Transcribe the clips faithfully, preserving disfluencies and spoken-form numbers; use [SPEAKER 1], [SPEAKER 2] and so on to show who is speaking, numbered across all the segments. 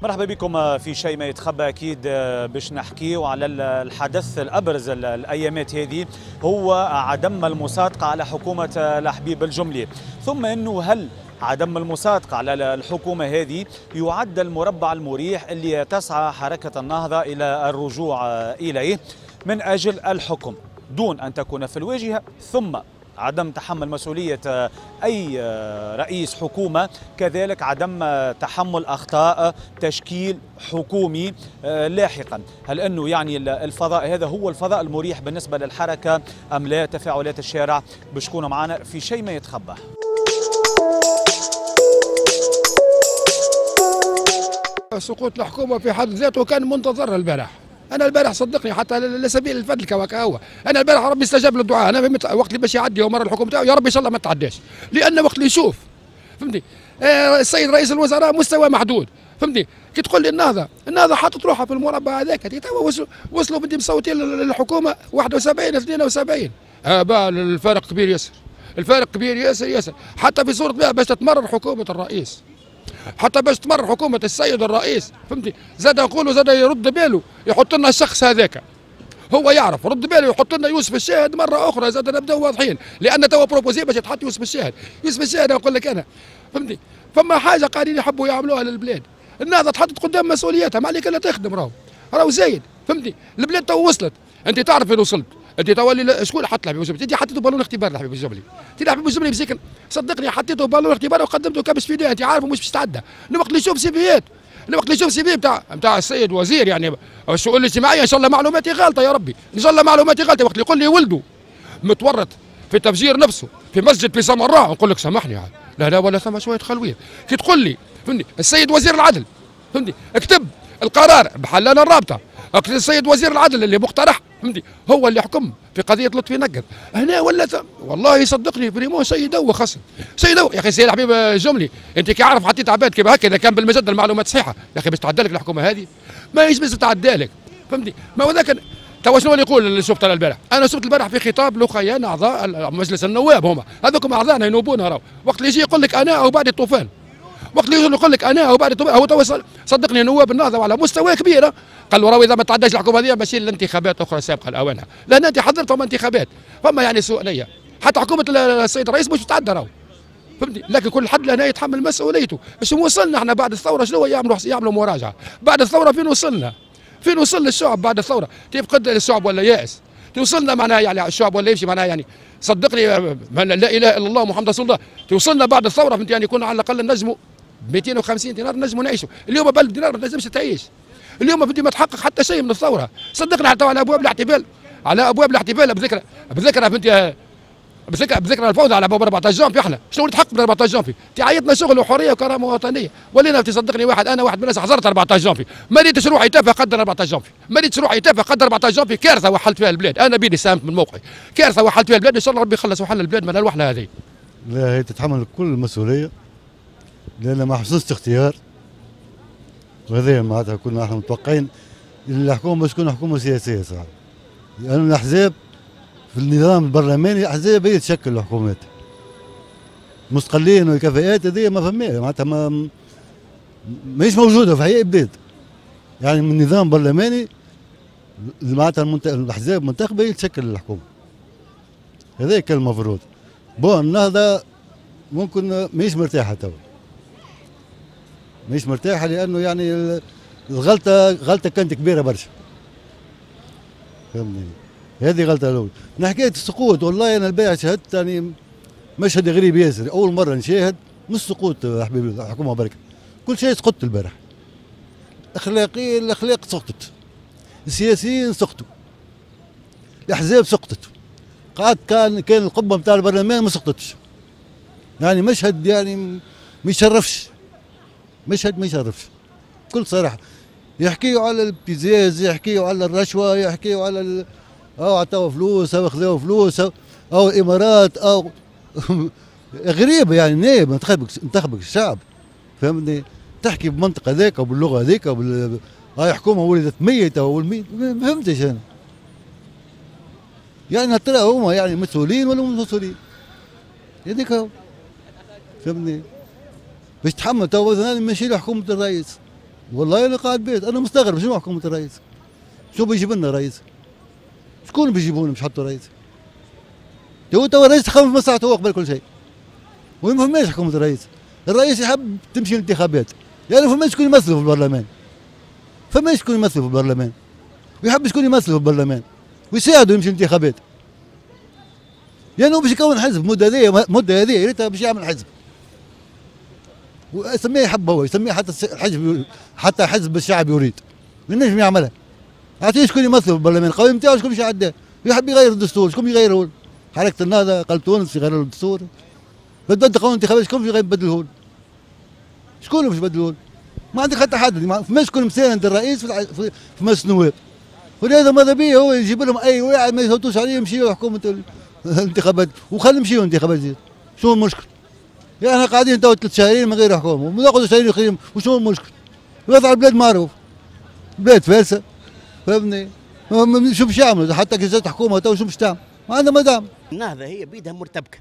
[SPEAKER 1] مرحبا بكم في شيء ما يتخبى. أكيد باش نحكيو على الحدث الأبرز الأيامات هذه، هو عدم المصادقة على حكومة الحبيب الجملي، ثم أنه هل عدم المصادقة على الحكومة هذه يعد المربع المريح اللي تسعى حركة النهضة إلى الرجوع إليه من أجل الحكم دون أن تكون في الواجهة، ثم عدم تحمل مسؤولية أي رئيس حكومة، كذلك عدم تحمل أخطاء تشكيل حكومي لاحقا. هل أنه يعني الفضاء هذا هو الفضاء المريح بالنسبة للحركة أم لا؟ تفاعلات الشارع باش تكونوا معنا في شيء ما يتخبى.
[SPEAKER 2] سقوط الحكومة في حد ذاته كان منتظر البارح. انا البارح صدقني حتى لسبيل الفدلكه وكهو، انا البارح ربي استجاب للدعاء. انا فهمت وقت اللي باش يعدي ومر الحكومة تاعو يا ربي ان شاء الله ما تعداش، لان وقت اللي يشوف فهمتني آه السيد رئيس الوزراء مستوى محدود فهمتني. كي تقول لي النهضة، النهضة حاطت روحها في المربع هذاك، توا وصلوا بدي مصوتين للحكومة واحد وسبعين اثنين وسبعين. آه الفارق كبير ياسر، الفارق كبير ياسر ياسر، حتى في صوره باش تتمرر حكومة الرئيس، حتى باش تمر حكومة السيد الرئيس فهمتي. زاد نقولوا زاد يرد باله يحط لنا الشخص هذاك، هو يعرف رد باله يحط لنا يوسف الشاهد مرة أخرى. زاد نبداو واضحين، لأن توا proposé باش يتحط يوسف الشاهد. يوسف الشاهد نقول لك أنا فهمتي فما حاجة قاعدين يحبوا يعملوها للبلاد. النهضة تحطت قدام مسؤوليتها، ما عليك إلا تخدم، راهو راهو زايد فهمتي. البلاد تو وصلت، أنت تعرف وين وصلت. انت تولي شكون حط الحبيب الجملي؟ انت حطيته بالون اختبار لحبيب الجملي، انت الحبيب الجملي مسكين صدقني حطيته بالون اختبار وقدمته كبش فداء، انت عارفه مش باش تعدى. الوقت اللي يشوف CV ات، الوقت اللي يشوف CV نتاع نتاع السيد وزير يعني الشؤون الاجتماعية، ان شاء الله معلوماتي غالطه يا ربي، ان شاء الله معلوماتي غالطه. وقت اللي يقول لي ولده متورط في تفجير نفسه في مسجد في سامراء، نقول لك سامحني يعني. لا لا ولا ثم شوية خلويه. كي تقول لي فهمتني السيد وزير العدل فهمتني اكتب القرار بحلنا الرابطة، السيد وزير العدل اللي مقترح فهمتي هو اللي حكم في قضية لطفي نقد هنا ولا ثم. والله صدقني vraiment شيء يدوخ اصلا، شيء يدوخ يا اخي. سيد حبيب الجملي انت كي عارف حطيت عباد كيما هكا، اذا كان بالمجد المعلومات صحيحه يا اخي باش تعدى لك الحكومة هذه ما باش تعدى لك فهمتي. ما هو ذاك توا شنو اللي يقول اللي شفت انا البارح؟ انا شفت البارح في خطاب لخيان اعضاء مجلس النواب، هما هذوكم اعضاءنا ينوبونا راهو. وقت اللي يجي يقول لك انا او بعد الطوفان، وقت اللي يقول لك انا او بعد الطوفان، هو توا صدقني نواب النهضة على مستوى كبير قال له راهو اذا ما تعداش الحكومة هذه ماشي للانتخابات اخرى سابقه لاوانها، لان انت حضرتهم انتخابات فما يعني سوء نيه، حتى حكومة السيد الرئيس مش تتعدى راهو فهمتني. لكن كل حد لهنا يتحمل مسؤوليته. شنو وصلنا احنا بعد الثورة؟ شنو يعملوا؟ يعملوا مراجعه بعد الثورة. فين وصلنا؟ فين وصل الشعب بعد الثورة؟ كيف قد الشعب ولا يائس؟ توصلنا معناها يعني الشعب ولا يمشي معناها يعني صدقني لا اله الا الله محمد رسول الله. توصلنا بعد الثورة فهمت يعني كنا على الاقل نجموا مئتين وخمسين دينار نجموا نعيشوا، اليوم بألف دينار ما تنجمش تعيش. اليوم بدي ما تحقق حتى شيء من الثورة، صدقني حتى على ابواب الاحتفال، على ابواب الاحتفال بذكرى بذكرى فهمتي بذكرى بذكرى الفوضى على ابواب أربعة عشر جانفي. احنا شنو اللي تحقق من أربعة عشر جانفي؟ تعيطنا شغل وحريه وكرامة وطنية، ولينا تصدقني واحد انا واحد من الناس حضرت أربعة عشر جانفي، ما ريتش روحي تافه قدر أربعة عشر جانفي، ما ريتش روحي تافه قدر أربعة عشر جانفي، كارثة وحلت فيها البلاد، انا بيدي ساهمت من موقعي، كارثة وحلت فيها البلاد، ان شاء الله ربي يخلص وحل البلاد من الوحله هذه.
[SPEAKER 3] لا هي تتحمل كل المسؤولية لان ما حصلش اختيار، وهذا معناتها كنا احنا متوقعين الحكومة باش تكون حكومة سياسية صراحة، لأن الاحزاب في النظام البرلماني الاحزاب هي تشكل الحكومات. مستقلين والكفاءات هذه ما فماش معناتها ما ماهيش موجودة في اي بلاد. يعني من نظام برلماني معناتها المنت... الاحزاب المنتخبه هي تشكل الحكومة. هذا كان المفروض. bon النهضة ممكن ماهيش مرتاحة توا. مش مرتاحة لانه يعني الغلطة غلطه كانت كبيرة برشا. فهمني؟ هذه غلطه الاولى. من حكاية السقوط والله انا البارح شاهدت يعني مشهد غريب ياسر، اول مرة نشاهد مش سقوط حبيبي الحكومة بركة. كل شيء سقط البارح. اخلاقيا الاخلاق سقطت. السياسيين سقطوا. الاحزاب سقطت. قعد كان كان القبة نتاع البرلمان ما سقطتش. يعني مشهد يعني ما يشرفش. مشهد ما يشرفش بكل صراحة. يحكيوا على الابتزاز، يحكيوا على الرشوة، يحكيوا على ال... او عطاو فلوس او خذاو فلوس او, أو الامارات او غريبة يعني. نائب انتخبك انتخبك الشعب فهمتني، تحكي بمنطق هذاك وباللغه هذيك وبال هاي حكومة ولدت ميته والميت ما فهمتش انا. يعني ترى هما يعني مسؤولين ولا مش مسؤولين؟ هذيك هو فهمتني. باش تحمل تو مثلا ماشي لحكومة الرئيس والله انا قاعد بيت، انا مستغرب شنو حكومة الرئيس؟ شو بيجيب لنا رئيس؟ شكون بيجيبونا باش يحطوا رئيس؟ تو تو الرئيس يخمم في مصلحته هو قبل كل شيء. وما فماش حكومة الرئيس، الرئيس يحب تمشي الانتخابات، يعني فماش شكون يمثله في البرلمان. فماش شكون يمثله في البرلمان. ويحب شكون يمثله في البرلمان ويساعده يمشي الانتخابات. لانه يعني باش يكون حزب المدة هذه، المدة هذه يا ريتها باش يعمل حزب. ويسميه يحب هو، يسميه حتى الحزب، حتى حزب الشعب يريد. ينجم يعملها. اعطيه شكون يمثله في البرلمان، القوانين نتاعو شكون باش يعداه؟ يحب يغير الدستور، شكون يغيره؟ حركة النهضة قال تونس يغيروا الدستور. بدلت قانون الانتخابات شكون باش يبدله؟ شكون باش يبدله؟ ما عندك حتى حد، ما فماش شكون مساند الرئيس في في مجلس النواب. ولهذا ماذا بيه هو يجيب لهم اي واحد ما يصوتوش عليه يمشيوا حكومة الانتخابات، وخلي يمشيوا الانتخابات زيد. شنو المشكل؟ يعني احنا قاعدين تو ثلاث شهرين من غير حكومة، وناخذوا شهرين اخرين، وشنو المشكل؟ وضع البلاد معروف. بلاد فالسه، فهمني؟ شو باش يعملوا؟ حتى كي جات حكومة تو شو باش تعمل؟ ما عندها ما تعمل.
[SPEAKER 4] النهضة هي بيدها مرتبكه.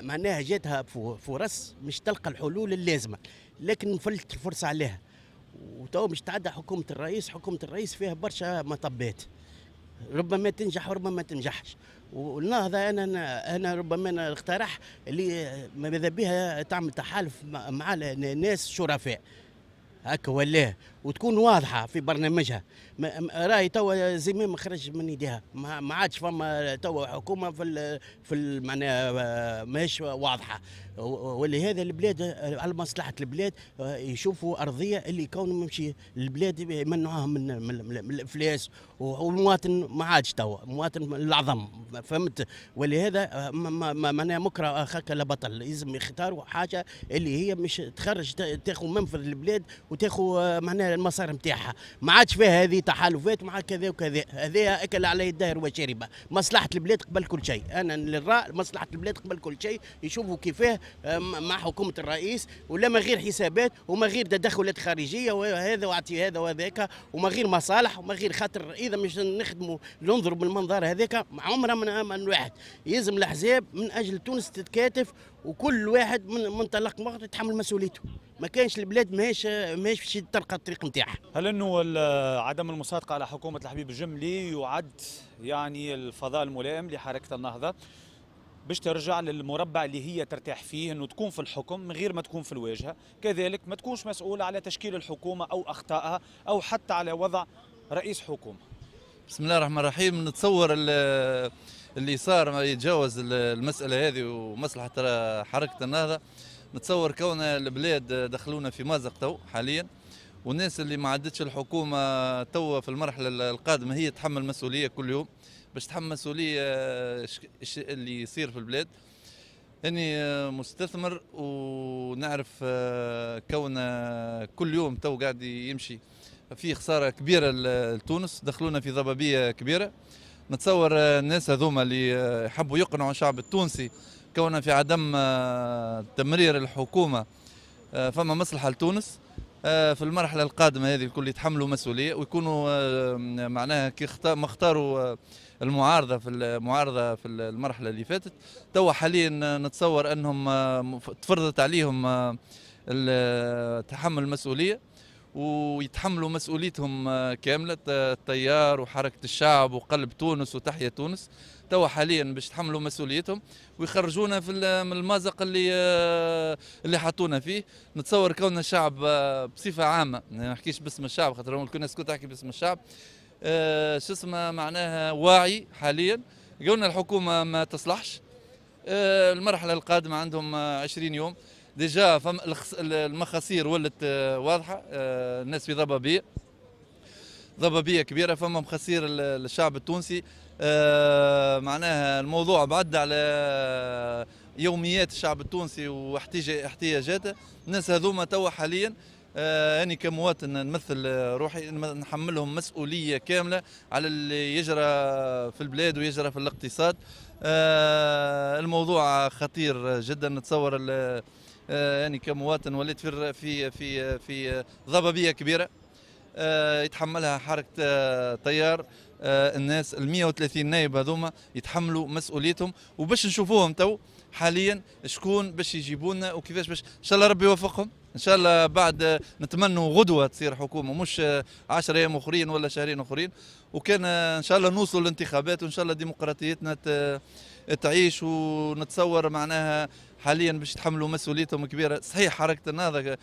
[SPEAKER 4] معناها جاتها فرص مش تلقى الحلول اللازمة، لكن فلت الفرصة عليها. وتو مش تعدى حكومة الرئيس، حكومة الرئيس فيها برشا مطبات. ربما تنجح وربما ما تنجحش. والنهضه انا انا ربما انا اقترح اللي ماذا بها تعمل تحالف مع ناس شرفاء. هكا ولا وتكون واضحة في برنامجها. راهي توا زمام خرج من يديها، ما عادش فما توا حكومة في في معناها ماهيش واضحة. ولهذا البلاد على مصلحة البلاد يشوفوا ارضية اللي يكونوا يمشي البلاد يمنعوها من من الافلاس، والمواطن ما عادش توا المواطن العظم، فهمت؟ ولهذا معناها مكره اخاك لا بطل، لازم يختاروا حاجة اللي هي مش تخرج تاخذ منفذ البلاد وتاخذ معناها المسار نتاعها. ما عادش فيها هذه تحالفات مع كذا وكذا، هذا اكل عليه الدهر وشربه. مصلحة البلاد قبل كل شيء، انا للراء مصلحة البلاد قبل كل شيء. يشوفوا كيفاه مع حكومة الرئيس، ولا ما غير حسابات وما غير تدخلات خارجية وهذا واعطي هذا وهذاك، وما غير مصالح وما غير خاطر. اذا مش نخدموا ننظروا بالمنظر هذاك عمرها من من واحد. يلزم الاحزاب من اجل تونس تتكاتف، وكل واحد من منطلق وقت يتحمل مسؤوليته. ما كانش البلاد ماهيش ماهيش باش تلقى الطريق نتاعها.
[SPEAKER 1] هل انه عدم المصادقة على حكومة الحبيب الجملي يعد يعني الفضاء الملائم لحركة النهضة باش ترجع للمربع اللي هي ترتاح فيه، انه تكون في الحكم من غير ما تكون في الواجهة، كذلك ما تكونش مسؤولة على تشكيل الحكومة او اخطائها او حتى على وضع رئيس حكومة؟
[SPEAKER 5] بسم الله الرحمن الرحيم. نتصور اللي صار ما يتجاوز المسالة هذه ومصلحه حركة النهضة. نتصور كون البلاد دخلونا في مازق تو حاليا، والناس اللي ما عدتش الحكومة تو في المرحلة القادمة هي تحمل مسؤولية كل يوم، باش تحمل مسؤولية اللي يصير في البلاد. اني مستثمر ونعرف كون كل يوم تو قاعد يمشي في خسارة كبيرة لتونس، دخلونا في ضبابية كبيرة. نتصور الناس هذوما اللي حبوا يقنعوا الشعب التونسي كوننا في عدم تمرير الحكومة فما مصلحة لتونس في المرحلة القادمة هذه، الكل يتحملوا مسؤولية ويكونوا معناها كي ما اختاروا المعارضة في المعارضة في المرحلة اللي فاتت. توا حاليا نتصور انهم تفرضت عليهم تحمل المسؤولية ويتحملوا مسؤوليتهم كاملة، التيار وحركه الشعب وقلب تونس وتحيا تونس. توا حاليا باش يتحملوا مسؤوليتهم ويخرجونا في من المازق اللي اللي حطونا فيه. نتصور كون الشعب بصفة عامة، ما نحكيش باسم الشعب خاطر كل الناس كنت تحكي باسم الشعب، شو اسمه معناها واعي حاليا. قلنا الحكومة ما تصلحش، المرحلة القادمة عندهم عشرين يوم déjà، فم المخاسير ولت واضحة، الناس في ضبابية ضبابية كبيرة، فما مخاسير للشعب التونسي. معناها الموضوع بعد على يوميات الشعب التونسي واحتياجاته. الناس هذوما توا حاليا أنا كمواطن نمثل روحي نحملهم مسؤولية كاملة على اللي يجرى في البلاد ويجرى في الاقتصاد. الموضوع خطير جدا. نتصور يعني كمواطن وليت في في في في ضبابية كبيرة يتحملها حركة تيار. الناس ال مئة وثلاثين نائب هذوما يتحملوا مسؤوليتهم، وباش نشوفوهم تو حاليا شكون باش يجيبونا وكيفاش باش. ان شاء الله ربي يوفقهم، ان شاء الله بعد نتمنوا غدوه تصير حكومة، مش عشرة ايام اخرين ولا شهرين اخرين، وكان ان شاء الله نوصلوا للانتخابات وان شاء الله ديمقراطيتنا تعيش. ونتصور معناها حاليا باش يتحملوا مسؤوليتهم كبيرة. صحيح حركة النهضة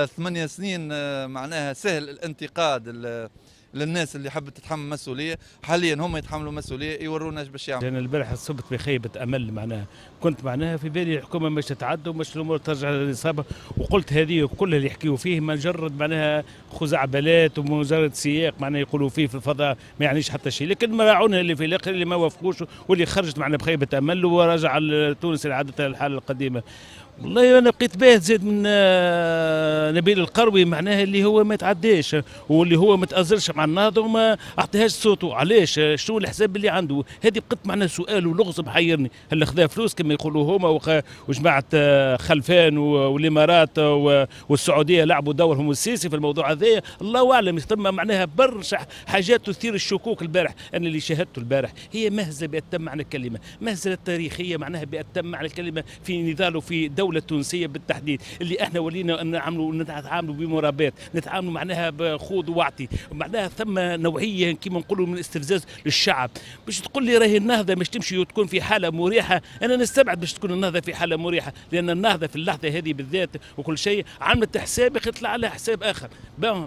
[SPEAKER 5] ثمانية سنين معناها سهل الانتقاد للناس اللي حبت تتحمل مسؤولية، حاليا هم يتحملوا مسؤولية يورونا ايش باش يعملوا.
[SPEAKER 6] انا البارح صبت بخيبه امل، معناها كنت معناها في بالي الحكومة مش تتعدى ومش الامور ترجع للنصاب، وقلت هذه كل اللي يحكيوا فيه مجرد معناها خزعبلات ومجرد سياق معناها يقولوا فيه في الفضاء ما يعنيش حتى شيء، لكن مراعونا اللي في الاخر اللي ما وافقوش واللي خرجت معنا بخيبه امل ورجع تونس لعادتها الحالة القديمة. والله انا بقيت باهت زاد من نبيل القروي معناها اللي هو ما يتعداش واللي هو ما تأزرش مع النهضة وما اعطيهاش صوته، علاش؟ شنو الحساب اللي عنده؟ هذه بقت معناها سؤال ولغز محيرني، هل خذا فلوس كما يقولوا هما وجماعه خلفان والامارات والسعودية لعبوا دورهم والسيسي في الموضوع هذايا؟ الله اعلم. ثم معناها برشا حاجات تثير الشكوك البارح. انا اللي شاهدته البارح هي مهزله بأتم معنى الكلمة، مهزله تاريخية معناها بأتم معنى الكلمة في نضال وفي دولة التونسية بالتحديد، اللي احنا ولينا نعملوا نتعاملوا بمرابات، نتعاملوا معناها بخوض وعطي، معناها ثم نوعية كما نقولوا من الاستفزاز للشعب. باش تقول لي راهي النهضة باش تمشي وتكون في حاله مريحه، انا نستبعد باش تكون النهضة في حاله مريحه، لان النهضة في اللحظة هذه بالذات وكل شيء عملت حساب يطلع على حساب اخر،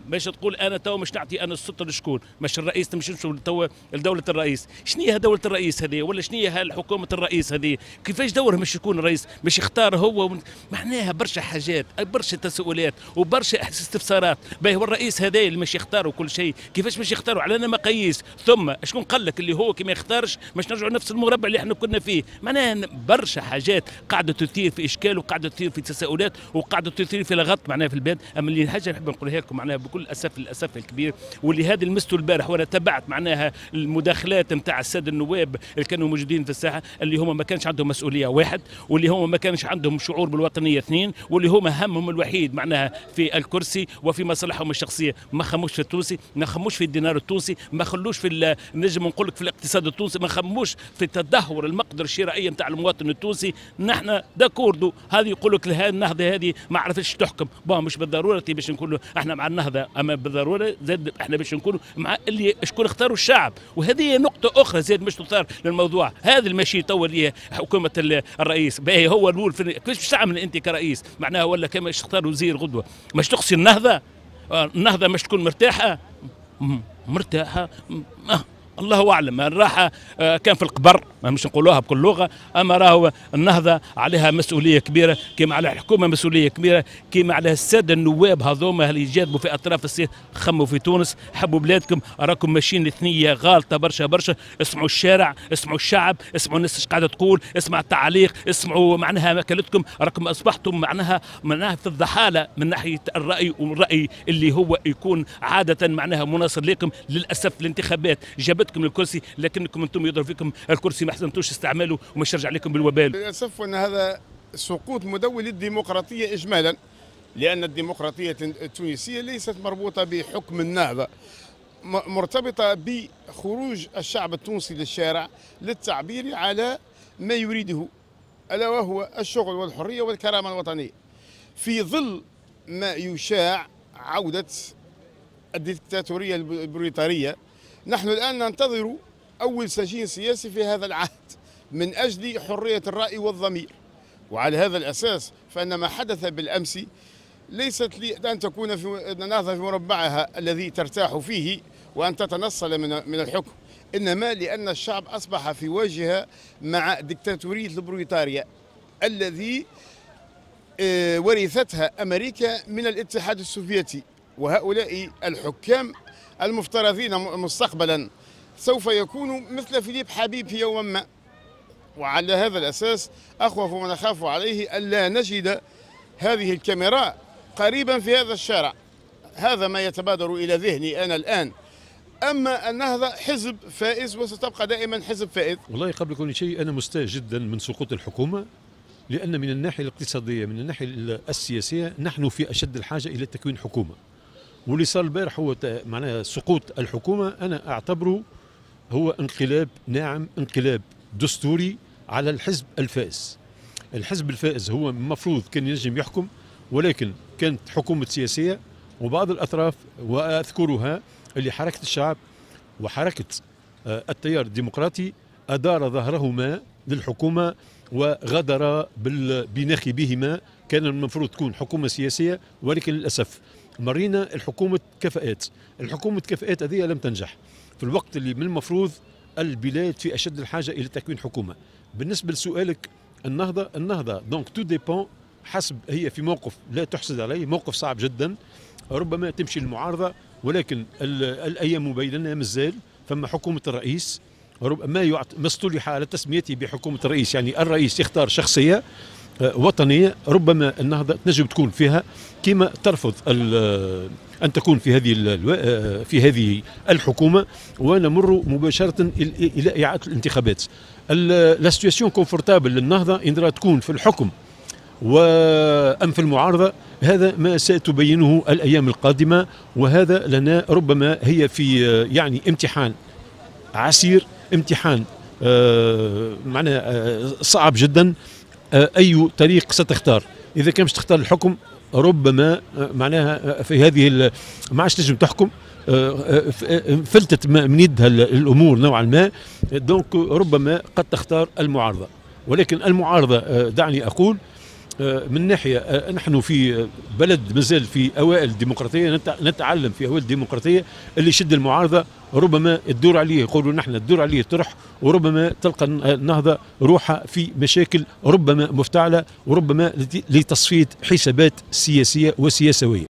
[SPEAKER 6] باش تقول انا تو مش نعطي انا السلطة لشكون؟ مش الرئيس تمشي تو لدولة الرئيس، شنو هي دولة الرئيس هذه؟ ولا شنو هي حكومة الرئيس هذه؟ كيفاش دورها مش يكون الرئيس؟ مش يختار هو؟ معناها برشا حاجات، برشا تساؤلات وبرشا استفسارات. باهي والرئيس هذا اللي مش يختاروا كل شيء، كيفاش مش يختاروا؟ على مقاييس، ثم شكون قال لك اللي هو كي ما يختارش مش نرجعوا نفس المربع اللي احنا كنا فيه؟ معناها برشا حاجات قاعدة تثير في اشكال وقاعدة تثير في تساؤلات وقاعدة تثير في لغط معناها في البلاد. اما اللي حاجة نحب نقولها لكم معناها بكل اسف للاسف الكبير، واللي هذا لمسته البارح وانا تبعت معناها المداخلات نتاع السادة النواب اللي كانوا موجودين في الساحة، اللي هما ما كانش عندهم مسؤولية واحد، واللي هما ما كانش عندهم شعور بالوطنيه اثنين، واللي هما همهم الوحيد معناها في الكرسي وفي مصالحهم الشخصية، ما خموش في التونسي، ما خموش في الدينار التونسي، ما خلوش في نجم نقول لك في الاقتصاد التونسي، ما خموش في تدهور المقدرة الشرائية نتاع المواطن التونسي. نحن d'accord هذه يقول لك النهضة هذه ما عرفتش تحكم، bon مش بالضرورة باش نقولوا احنا مع النهضة، اما بالضرورة زاد احنا باش نكونوا مع اللي شكون اختاروا الشعب. وهذه نقطة اخرى زاد مش تثار للموضوع هذا المشي تو اللي حكومة الرئيس باهي هو الاول كيفاش باش تعمل انت كرئيس معناها؟ ولا كما تختار وزير غدوه مش تقصي النهضة؟ النهضة مش تكون مرتاحة؟ مرتاحة الله اعلم. الراحة كان في القبر مش نقولوها بكل لغة، اما راهو النهضة عليها مسؤولية كبيرة، كما على الحكومة مسؤولية كبيرة، كما على السادة النواب هذوما اللي يجاذبوا في اطراف السير. خموا في تونس، حبوا بلادكم، راكم ماشيين لثنيه غالطه برشا برشا. اسمعوا الشارع، اسمعوا الشعب، اسمعوا الناس ايش قاعدة تقول، اسمعوا التعاليق، اسمعوا معناها ماكلتكم. راكم اصبحتم معناها معناها في الضحاله من ناحية الراي، والراي اللي هو يكون عادة معناها مناصر لكم. للاسف الانتخابات جابتكم للكرسي، لكنكم انتم يضرب فيكم الكرسي، ما حسنتوش استعماله ومش يرجع لكم بالوبال.
[SPEAKER 7] للاسف ان هذا سقوط مدون للديمقراطية اجمالا، لان الديمقراطية التونسية ليست مربوطة بحكم النهضة، مرتبطة بخروج الشعب التونسي للشارع للتعبير على ما يريده، الا وهو الشغل والحرية والكرامة الوطنية، في ظل ما يشاع عوده الديكتاتوريه البريطانية. نحن الآن ننتظر أول سجين سياسي في هذا العهد من أجل حرية الرأي والضمير، وعلى هذا الأساس فإن ما حدث بالأمس ليست لأن تكون في النهضة في مربعها الذي ترتاح فيه وأن تتنصل من من الحكم، إنما لأن الشعب أصبح في واجهة مع ديكتاتورية البريطانيا الذي ورثتها أمريكا من الاتحاد السوفيتي، وهؤلاء الحكام المفترضين مستقبلا سوف يكونوا مثل فيليب حبيب في يوم ما. وعلى هذا الأساس أخوف ما نخاف عليه ألا نجد هذه الكاميرا قريبا في هذا الشارع. هذا ما يتبادر إلى ذهني أنا الآن. أما النهضة حزب فائز وستبقى دائما حزب فائز.
[SPEAKER 8] والله قبل كل شيء أنا مستاء جدا من سقوط الحكومة، لأن من الناحية الاقتصادية من الناحية السياسية نحن في أشد الحاجة إلى تكوين حكومة. واللي صار البارح هو معناها سقوط الحكومة، أنا أعتبره هو انقلاب ناعم، انقلاب دستوري على الحزب الفائز. الحزب الفائز هو المفروض كان ينجم يحكم، ولكن كانت حكومة سياسية وبعض الاطراف واذكرها اللي حركة الشعب وحركه التيار الديمقراطي ادار ظهرهما للحكومة وغدر بناخبيهما. كان المفروض تكون حكومة سياسية، ولكن للاسف مرينا الحكومة كفاءات، الحكومة كفاءات هذه لم تنجح في الوقت اللي من المفروض البلاد في اشد الحاجة الى تكوين حكومة. بالنسبة لسؤالك النهضة، النهضة donc tout dépend، حسب هي في موقف لا تحسد عليه، موقف صعب جدا، ربما تمشي المعارضة، ولكن الايام بيننا مازال فما حكومة الرئيس، ما يعط ما اصطلح على تسميته بحكومة الرئيس، يعني الرئيس يختار شخصية وطنية ربما النهضة تنجم تكون فيها، كما ترفض ان تكون في هذه في هذه الحكومة، ونمر مباشرة الى اعاده الانتخابات. la situation confortable للنهضه ان تكون في الحكم وام في المعارضة، هذا ما ستبينه الايام القادمة، وهذا لنا ربما هي في يعني امتحان عسير، امتحان آه معناه آه صعب جدا. آه اي طريق ستختار؟ اذا كان مش تختار الحكم ربما آه معناها في هذه ما عادش تنجم تحكم، فلتت من يدها الامور نوعا ما، donc ربما قد تختار المعارضة. ولكن المعارضة دعني اقول من ناحية نحن في بلد مازال في اوائل الديمقراطية، نتعلم في اوائل الديمقراطية، اللي يشد المعارضة ربما تدور عليه، يقولوا نحن تدور عليه طرح، وربما تلقى النهضة روحها في مشاكل ربما مفتعله، وربما لتصفيه حسابات سياسية وسياسويه.